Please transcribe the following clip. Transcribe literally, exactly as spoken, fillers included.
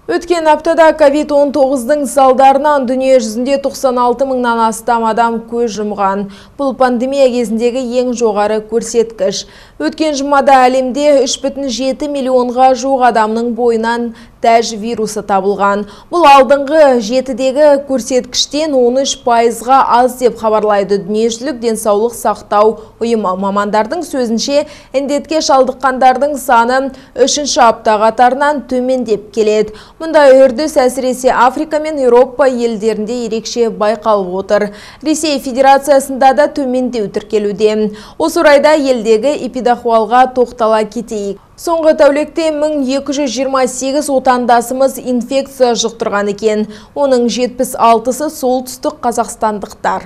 Өткен аптада ковид он тоғыздың салдарынан дүние жүзінде тоқсан алты мыңнан астам адам көз жұмған. Бұл пандемия кезіндегі ең жоғары көрсеткіш. Өткен жұмада әлемде үш бүтін жеті миллионға жуық адамның бойынан тәж вирусы табылған. Бұл алдыңғы жетідегі көрсеткіштен он үш пайызға аз деп хабарлайды дүниежүзілік денсаулық сақтау ұйымы. Мамандардың сөзінше, індетке шалдыққандардың саны үшінші апта қатарынан төмендеп келеді. Мұндай үрдіс әсіресе Африка мен Еуропа елдерінде ерекше байқалып отыр. Ресей Федерациясында да төмендеу тіркелуде. Осы орайда елдегі эпидахуалға тоқтала кетейік. Соңғы тәулікте мың екі жүз жиырма сегіз отандасымыз инфекция жұқтырған екен. Оның жетпіс алтысы солтүстік қазақстандықтар.